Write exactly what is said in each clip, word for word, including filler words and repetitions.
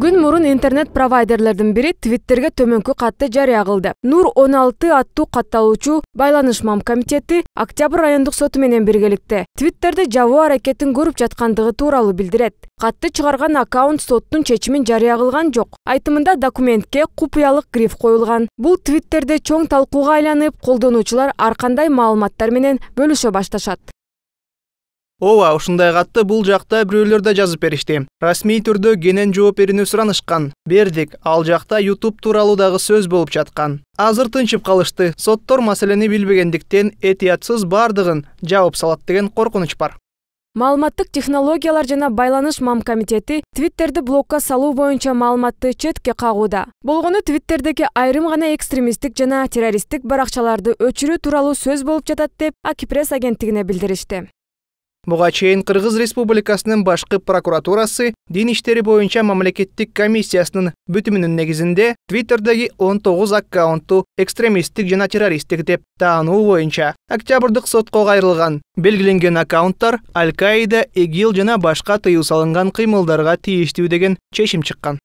Күн мурун интернет провайдерлердин бири Твиттерге төмөнкү катты жарыя кылды. Нур он алты аттуу катталуучу байланыш мам комитети Октябрь райондук соту менен биргеликте Твиттерди жабуу аракетин көрүп жаткандыгы тууралуу билдирет. Катты чыгарган аккаунт соттун чечимин жарыя кылган жок. Айтымында документке купуялык гриф коюлган. Бул Твиттерде чоң талкууга айланып, колдонуучулар ар кандай маалыматтар менен бөлүшө башташат. Ооба, ушундай катты бул жакта бирөөлөр да жазып беришти. Расмий түрдө кенен жооп берүүнү суранышкан. Бердик, ал жакта YouTube тууралуу дагы сөз болуп жаткан. Азыр тынчып калышты. Соттор маселени билбегендиктен этиятсыз бардыгын жаап салат деген коркунуч бар. Маалыматтык технологиялар жана байланыш мам комитети Твиттерди блокко салуу боюнча маалыматты четке кагууда. Болгону Твиттердеги айрым гана экстремисттик жана террористтик баракчаларды өчүрүү тууралуу сөз болуп жатат деп Акипресс агенттигине билдиришти. Буга чейин Кыргыз Республикасынын башкы прокуратурасы дин иштери боюнча мамлекеттик комиссиясынын бүтүмүнүн негизинде Твиттердеги он тогуз аккаунтту экстремисттик жана террористтик деп таануу боюнча октябрдык сотко кайрылган. Белгиленген аккаунттар Аль-Каида, ИГИЛ жана башка тыюу салынган кыймылдарга тийиштүү деген чечим чыккан.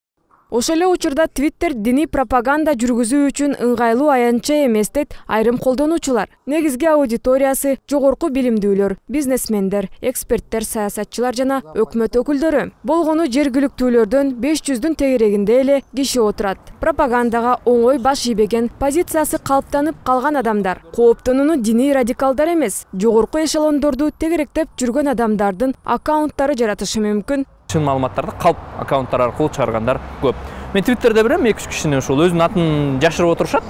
Ошол эле учурда Твиттер диний пропаганда жүргүзүү үчүн ыңгайлуу аянтча эмес дейт айрым колдонуучулар. Негизги аудиториясы жогорку билимдүүлөр, бизнесмендер, эксперттер, саясатчылар жана өкмөт өкүлдөрү. Болгону жергиликтүүлөрдөн беш жүздүн тегерегинде эле киши отурат. Пропагандага оңой баш ийбеген, позициясы калыптанып калган адамдар. Кооптонууну диний радикалдар эмес, жогорку эшелондорду тегеректеп жүргөн адамдардын аккаунттары жаратышы мүмкүн. Чын маалыматтарды калп аккаунттар аркылуу чыгаргандар көп. Мен Твиттерде билем эки үч кишини ушул өзүнүн атын жашырып отурушат.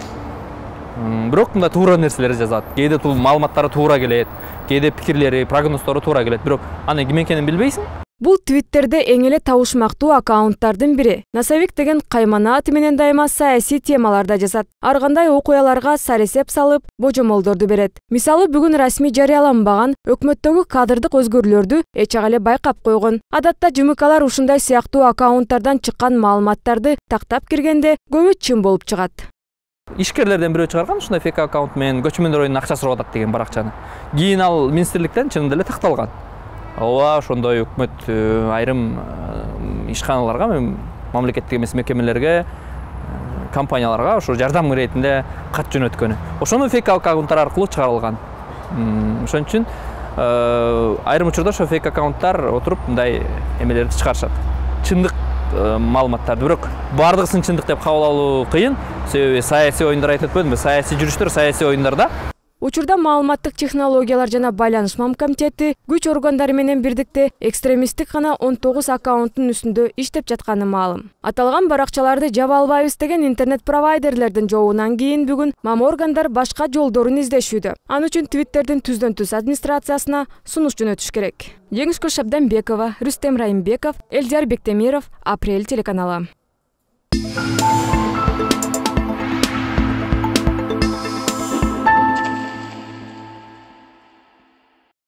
Бирок мында туура нерселер жазат. Кээде бул маалыматтары туура келет, кээде пикирлери, прогноздору туура келет. Бирок аны ким экенин билбейсиң. Бул Твиттерде эң эле табышмактуу аккаунттардын бири. Насавик деген каймана аты менен дайыма саясий темаларда жазат. Ар кандай окуяларга саресеп салып, божомолдорду берет. Мисалы, бүгүн расмий жарыяланбаган өкмөттөгү кадрдык өзгөрүүлөрдү эч ак эле байкап койгон. Адатта жымыкалар ушундай сыяктуу аккаунттардан чыккан маалыматтарды тактап киргенде көбү чын болуп чыгат. Ишкерлерден бирөө чыгарган ушундай фейк аккаунт менен көчмөндөр оюнунун акчасы сурап атат деген баракчаны. Кийин ал министрликтен чынында эле такталган. Ооба, ошондой өкмөт айрым ишканаларга, мамлекеттик эмес мекемелерге, компанияларга ошо жардам иретинде кат жөнөткөнү. Ошону фейк аккаунттар аркылуу чыгарылган. Ошон үчүн айрым учурда ошо фейк аккаунттар отуруп мындай эмелерди чыгарышат. Чындык маалыматтарды, бирок бардыгысын чындык деп кабыл алуу кыйын. Себеби саясий оюндар айтып өтпөдүмбү? Саясий жүрүштөр, саясий оюндарда Учурда маалыматтык технологиялар жана байланыш мам комитети күч органдары менен бирдикте экстремисттик гана он тогуз аккаунттун үстүндө иштеп жатканы маалым. Аталган баракчаларды жаба албайбыз деген интернет провайдерлердин жообунан кийин бүгүн мам органдар башка жолдорун издешүүдө. Ал үчүн Твиттердин түздөн түз администрациясына сунуш жөнөтүш керек. Жеңишкүл Шабданбекова, Рүстем Райымбеков, Элдияр Бектемиров, Апрель телеканалы.